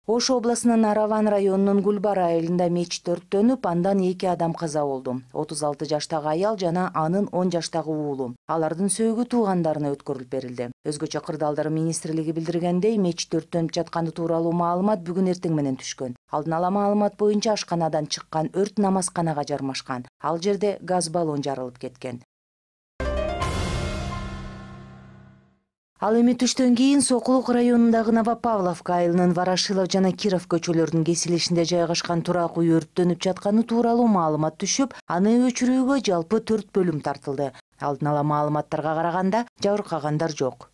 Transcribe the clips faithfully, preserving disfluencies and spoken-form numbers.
Ош областынын Араван районунун Гүлбар айылында мечит өрттөнүп, андан эки адам каза болду. отуз алты жаштагы аял жана анын он жаштагы уулу. Алардын сөөгү туугандарына өткөрүлүп берилди. Өзгөчө кырдаалдар министрлиги билдиргендей, мечит өрттөнүп жатканы тууралуу маалымат бүгүн эртең менен түшкөн. Алдын ала маалымат боюнча ашканадан чыккан өрт намазканага жармашкан. Ал жерде газ баллон жарылып кеткен. Ал эми түштөн кийин Сокулук районундагы Новопавловка айылынын Ворошилов жана Киров көчөлөрүнүн кесилишинде жайгашкан турак үй өрттөнүп жатканы тууралуу маалымат түшүп, аны өчүрүүгө жалпы төрт бөлүм тартылды. Алдын ала маалыматтарга караганда, жабыркагандар жок.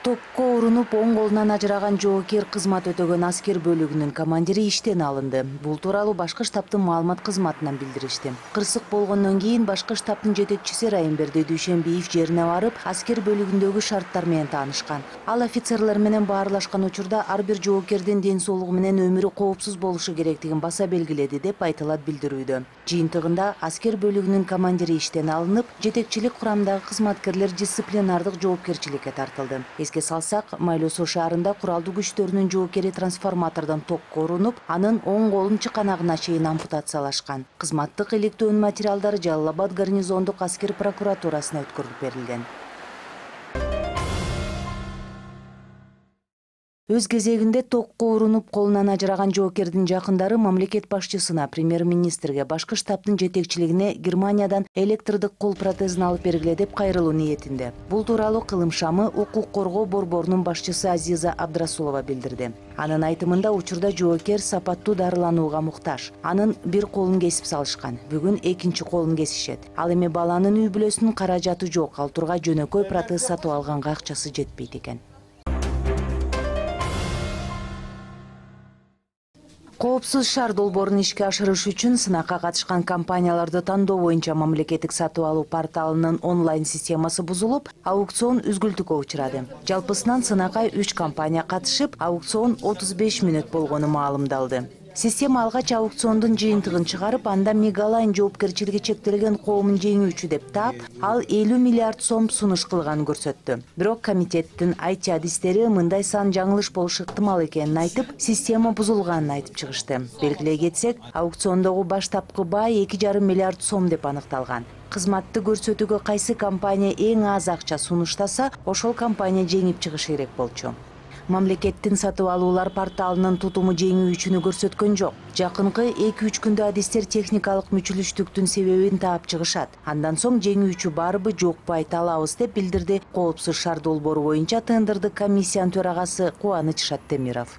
Токко урунуп, оң колунан ажыраган жоокер кызмат өтөгөн аскер бөлүгүнүн командири иштен алынды. Бул тууралуу башкы штабтын маалымат кызматынан билдиришти. Кырсык болгондон кийин башкы штабтын жетекчиси Райымберди Дүйшөнбиев жерине барып, аскер бөлүгүндөгү шарттар менен таанышкан. Ал офицерлер менен баарлашкан учурда ар бир жоокердин ден соолугу менен өмүрү коопсуз болушу керектигин баса белгиледи деп айтылат билдирүүдө. Жыйынтыгында аскер бөлүгүнүн командири иштен алынып, жетекчилик курамдагы кызматкерлер дисциплинардык жоопкерчиликке тартылды. Эске салсак, Майлуу Суу шаарында куралдуу күчтөрүнүн жоокери трансформатордон токко урунуп, анын оң колун чыканагына чейин ампутациялашкан. Кызматтык иликтөөнүн материалдары Жалал Абад гарнизондук аскер прокуратурасына өткөрүлүп берилген. Өз кезегинде токко урунуп колунан ажыраган жоокердин жакындары мамлекет башчысына, премьер-министрге, башкы штабтын жетекчилигине Германиядан электрдик кол протезин алып бергиле деп кайрылуу ниетинде. Бул тууралуу Кылым шамы укук коргоо борборунун башчысы Азиза Абдрасулова билдирди. Анын айтымында, учурда жоокер сапаттуу дарыланууга муктаж. Анын бир колун кесип салышкан. Бүгүн экинчи колун кесишет. Ал эми баланын үй бүлөсүнүн каражаты жок, ал турга жөнөкөй протез сатып алганга акчасы жетпейт экен. Коопсуз шаар долбоорун ишке ашырыш үчүн сынакка катышкан компанияларды тандоо боюнча мамлекеттик сатып алуу порталынын онлайн системасы бузулуп, аукцион үзгүлтүккө учурады. Жалпысынан сынакка үч компания катышып, аукцион отуз беш мүнөт болгону маалымдалды. Система алгач аукциондун жыйынтыгын чыгарып, анда Мегалайн жоопкерчилиги чектелген коомун жеңүүчү деп таап, ал элүү миллиард сом сунуш кылганын көрсөттү. Бирок комитеттин ай ти адистери мындай сан жаңылыш болушу ыктымал экенин айтып, система бузулганын айтып чыгышты. Белгилей кетсек, аукциондогу баштапкы бай эки жарым миллиард сом деп аныкталган. Кызматты көрсөтүүгө кайсы компания эң аз акча сунуштаса, ошол компания жеңип чыгышы керек болчу. Мамлекеттин сатып алуулар порталынын тутуму жеңүүчүнү көрсөткөн жок. Жакынкы эки үч күндө адистер техникалык мүчүлүштүктүн себебин таап чыгышат. Андан соң жеңүүчү барбы жокпу айта алабыз деп билдирди Коопсуз шаар долбоору боюнча тендердик комиссиянын төрагасы Кубаныч Шаттемиров.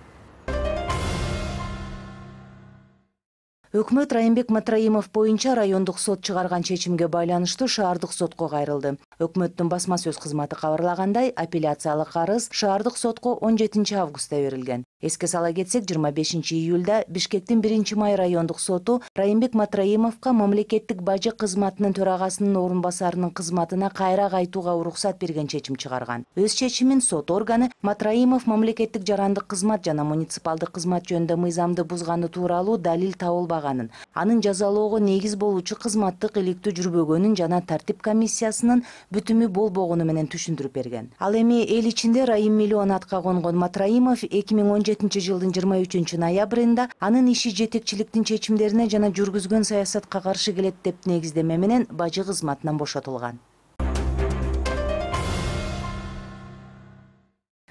Өкмөт Райымбек Матраимов боюнча райондук сот чыгарган чечимге байланыштуу шаардык сотко кайрылды. Өкмөттүн басма сөз кызматы кабарлагандай, апелляциялык арыз шаардык сотко он жетинчи августта берилген. Эске сала кетсек, жыйырма бешинчи июлда Бишкектин биринчи май райондук соту Райымбек Матраимовго мамлекеттик бажы кызматынын төрагасынын орун басарынын кызматына кайра кайтууга уруксат берген чечим чыгарган. Өз чечимин сот органы Матраимов мамлекеттик жарандык кызмат жана муниципалдык кызмат жөнүндө мыйзамды бузганы тууралуу далил табылбаганын, анын жазалоого негиз болуучу кызматтык иликтөө жүрбөгөнүн жана тартип комиссиясынын бүтүмү болбогону менен түшүндүрүп берген. Ал эми эл ичинде Райым миллион атка конгон Матраимов эки миң он жетинчи жылдын жыйырма үчүнчү ноябрында анын иши жетекчиликтин чечимдерине жана жүргүзгөн саясатка каршы келет деп негиздеме менен бажы кызматынан бошотулган.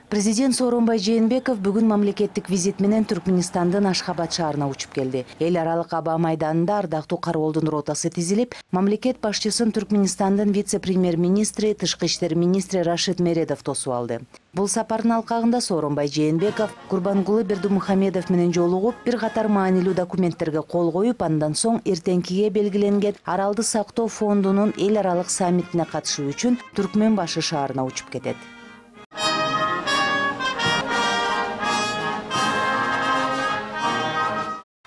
Президент Сооронбай Жээнбеков бүгүн мамлекеттик визит менен Түркмөнстандын Ашхабад шаарына учуп келди. Эл аралык аба майданында ардактуу кароолдун ротасы тизилип, мамлекет башчысын Түркмөнстандын вице-премьер-министри, тышкы иштер министри Рашид Мередов тосуп алды. Бул сапардын алкагында Сооронбай Жээнбеков Курбангулы Бердимухамедов менен жолугуп, бир катар маанилүү документтерге кол коюп, андан соң эртеңкиге белгиленген Аралды сактоо фондунун эл аралык саммитине катышуу үчүн Түркмөн башы шаарына учуп кетет.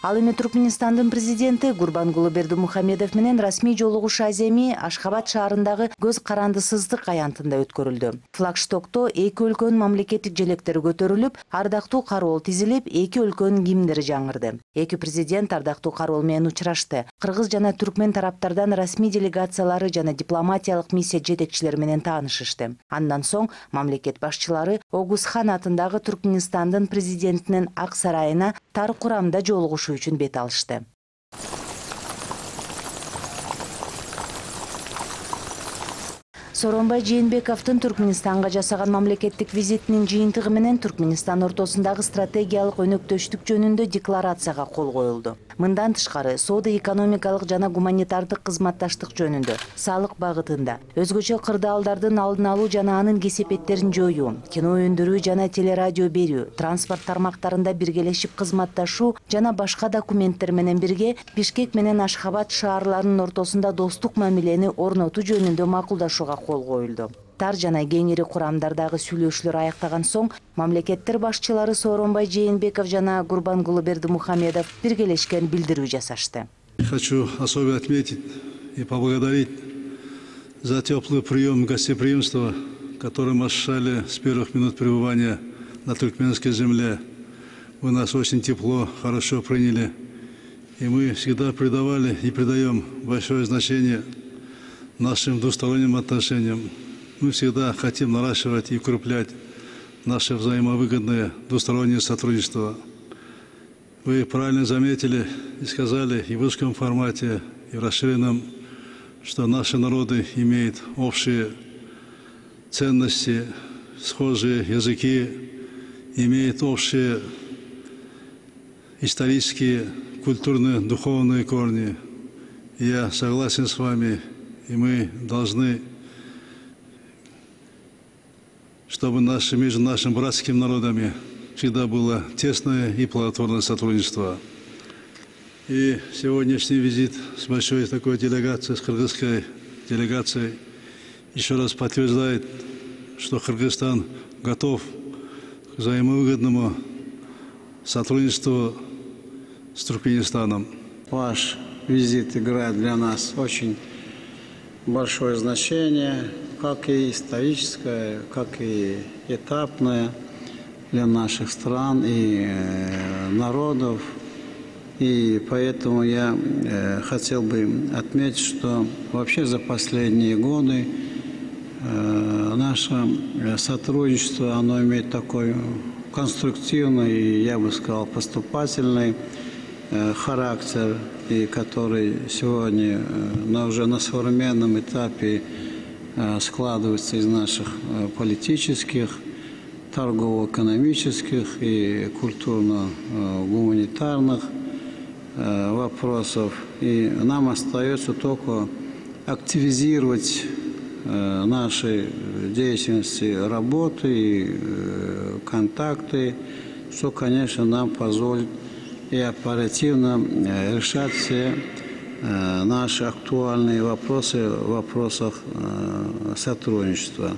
Ал эми Түркмөнстандын президенти Гурбангулы Бердимухамедов менен расмий жолугуш аземи Ашхабад шаарындагы көз карандысыздык аянтында өткөрүлдү. Флагштокто эки өлкөнүн мамлекеттик желектери көтөрүлүп, ардактуу кароол тизилип, эки өлкөнүн гимндери жаңырды. Эки президент ардактуу кароол менен учурашты. Кыргыз жана түркмен тараптардан расмий делегациялары жана дипломатиялык миссия жетекчилери менен таанышышты. Андан соң мамлекет башчылары Огузхан атындагы Түркмөнстандын президентинин Ак сарайына тар курамда жолугуш үчүн бет алышты. Сооронбай Жээнбековдун Түркмөнстанга жасаган мамлекеттик визитинин жыйынтыгы менен Түркмөнстан ортосундагы стратегиялык өнөктөштүк жөнүндө декларацияга кол коюлду. Мындан тышкары соода экономикалык жана гуманитардык кызматташтык жөнүндө, салык багытында, өзгөчө кырдаалдардын алдын алуу жана анын кесепеттерин жоюу, кино өндүрүү жана телерадио берүү, транспорт тармактарында биргелешип кызматташуу жана башка документтер менен бирге Бишкек менен Ашхабад шаарларынын ортосунда достук мамилени орнотуу жөнүндө макулдашууга кол коюлду. Тар жана кеңири курамдардагы сүйлөшүүлөр аяктаган соң мамлекеттер башчылары Сооронбай Жээнбеков жана Гурбангулы Бердимухамедов биргелешкен билдирүү жасашты. Хочу особенно отметить и поблагодарить за теплый прием и гостеприимство, которое мы ощущали с первых минут пребывания на туркменской земле. Вы нас очень тепло, хорошо приняли, и мы всегда придавали и придаем большое значение нашим двусторонним отношениям. Мы всегда хотим наращивать и укреплять наше взаимовыгодное двустороннее сотрудничество. Вы правильно заметили и сказали и в узком формате, и в расширенном, что наши народы имеют общие ценности, схожие языки, имеют общие исторические, культурные, духовные корни. И я согласен с вами, и мы должны, чтобы наши, между нашими братскими народами всегда было тесное и плодотворное сотрудничество. И сегодняшний визит с большой такой делегацией, с кыргызской делегацией, еще раз подтверждает, что Кыргызстан готов к взаимовыгодному сотрудничеству с Туркменистаном. Ваш визит играет для нас очень большое значение, как и историческое, как и этапное для наших стран и народов. И поэтому я хотел бы отметить, что вообще за последние годы наше сотрудничество, оно имеет такой конструктивный и, я бы сказал, поступательный характер, и который сегодня на, уже на современном этапе складывается из наших политических, торгово-экономических и культурно-гуманитарных вопросов. И нам остается только активизировать наши деятельности, работы и контакты, что, конечно, нам позволит и оперативно решать все наши актуальные вопросы в вопросах сотрудничества.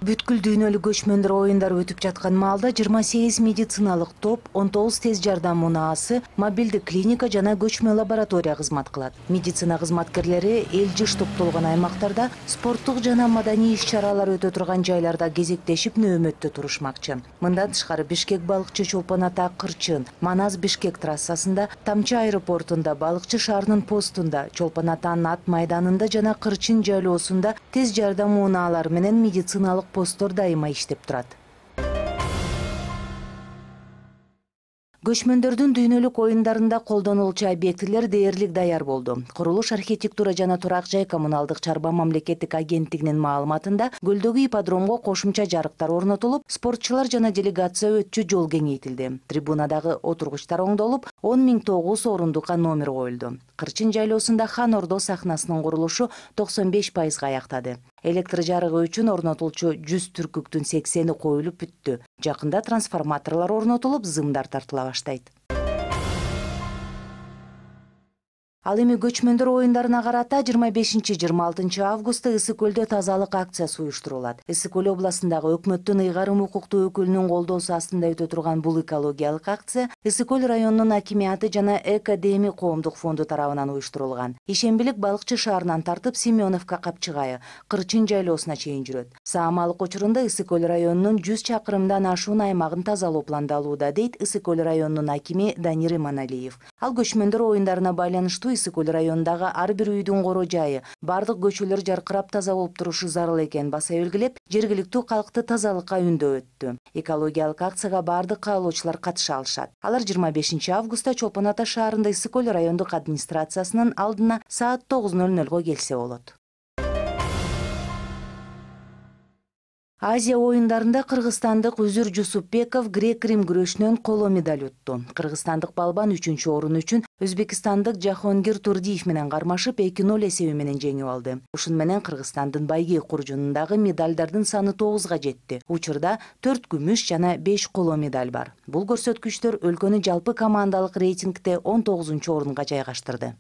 Бүткүл дүйнөлүк көчмөндөр оюндар өтүп жаткан маалда жыйырма сегиз медициналык топ, он тогуз тез жардам унаасы, мобилдик клиника жана көчмө лаборатория кызмат кылат. Медицина кызматкерлери эл жыш топтолгон аймактарда спорттук жана маданий иш-чаралар өтө турган жайларда кезектешип нөөмөттө турушмакчы. Мындан тышкары Бишкек балыкчы Чолпон Ата Кырчын, Манас Бишкек трассасында, Тамчы аэропортунда, Балыкчы шаарынын постунда, Чолпон Атанын ат майданында жана Кырчын жайлоосунда тез жардам унаалары менен медициналык посттор дайыма иштеп турат. Көчмөндөрдүн дүйнөлүк оюндарында колдонулчу объектилер дээрлик даяр болду. Курулуш, архитектура жана турак жай коммуналдык чарба мамлекеттик агенттигинин маалыматында көлдөгү ипподромго кошумча жарыктар орнотулуп, спортчулар жана делегация өтчү жол кеңейтилди. Трибунадагы отургучтар оңдолуп, он миң тогуз орундукка номер коюлду. Кырчын жайлоосунда Хан Ордо сахнасынын курулушу токсон беш пайызга аяктады. Электр жарыгы үчүн орнотулчу жүз түркүктүн сексени коюлуп бүттү. Жакында трансформаторлор орнотулуп, зымдар тартыла баштайт. Ал эми көчмөндөр оюндарына карата жыйырма бешинчи жыйырма алтынчы августта Ысык көлдө тазалык акциясы уюштурулат. Ысык көл областындагы өкмөттүн ыйгарым укуктуу өкүлүнүн колдоосу астында өтө турган бул экологиялык акция Ысык көл районунун акимияты жана Экодеми коомдук фонду тарабынан уюштурулган. Ишембилик балыкчы шаарынан тартып Семеновка капчыгайы, Кырчын жайлоосуна чейин жүрөт. Саамалык учурунда Ысык көл районунун жүз чакырымдан ашуун аймагын тазалоо пландалууда, дейт Ысык көл районунун акими Данир Иманалиев. Ал көчмөндөр оюндарына байланыштуу Ысык көл районундагы ар бир үйдүн коро жайы, бардык көчөлөр жаркырап таза болуп турушу зарыл экенин баса белгилеп, жергиликтүү калкты тазалыкка үндөп өттү. Экологиялык акцияга бардык каалоочулар катыша алышат. Алар жыйырма бешинчи августта Чолпон Ата шаарында Ысык көл райондук администрациясынын алдына саат тогуз ноль нольго келсе болот. Азия оюндарында кыргызстандык Үзүр Жусупбеков грек-рим күрөшүнөн коло медаль утту. Кыргызстандык балбан үчүнчү орун үчүн өзбекстандык Жахонгир Турдиев менен кармашып эки ноль эсеби менен жеңип алды. Ушун менен Кыргызстандын байгек куржунундагы медалдардын саны тогузга жетти. Учурда төрт күмүш жана беш коло медаль бар. Бул көрсөткүчтөр өлкөнү жалпы командалык рейтингде он тогузунчу орунга жайгаштырды.